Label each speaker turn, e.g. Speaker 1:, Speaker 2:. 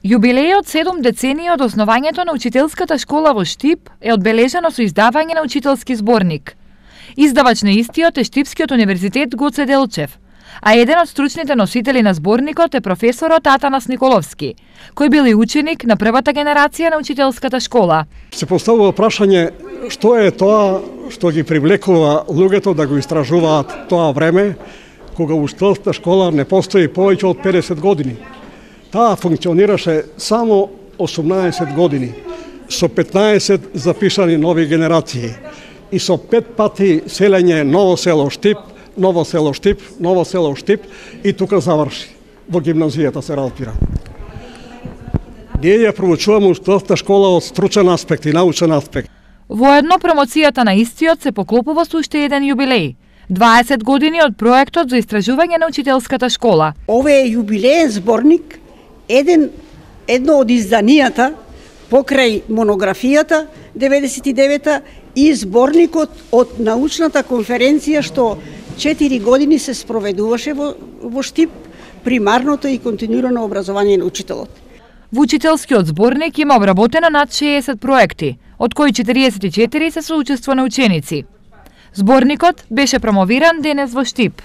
Speaker 1: Јубилејот 7 децении од основањето на учителската школа во Штип е одбележено со издавање на учителски зборник. Издавач на истиот е Штипскиот универзитет Гоце Делчев, а еден од стручните носители на зборникот е професорот Атанас Николовски, кој бил и ученик на првата генерација на учителската школа.
Speaker 2: Се поставува прашање што е тоа што ги привлекува луѓето да го истражуваат тоа време кога учителската школа не постои повеќе од 50 години. Таа функционираше само 18 години, со 15 запишани нови генерации и со 5 пати селење Ново село Штип, Ново село Штип, Ново село Штип и тука заврши. Во гимназијата се разбира. Ние ја проучуваме учителската школа од стручен аспект и научен аспект.
Speaker 1: Воедно промоцијата на истиот се поклопува со уште еден јубилеј. 20 години од проектот за истражување на учителската школа.
Speaker 3: Овој е јубилеен зборник, едно од изданијата покрај монографијата 99-та и зборникот од научната конференција што 4 години се спроведуваше во Штип, примарното и континуирано образование на учителот.
Speaker 1: Во учителскиот зборник има обработено над 60 проекти, од кои 44 се со учество на ученици. Зборникот беше промовиран денес во Штип.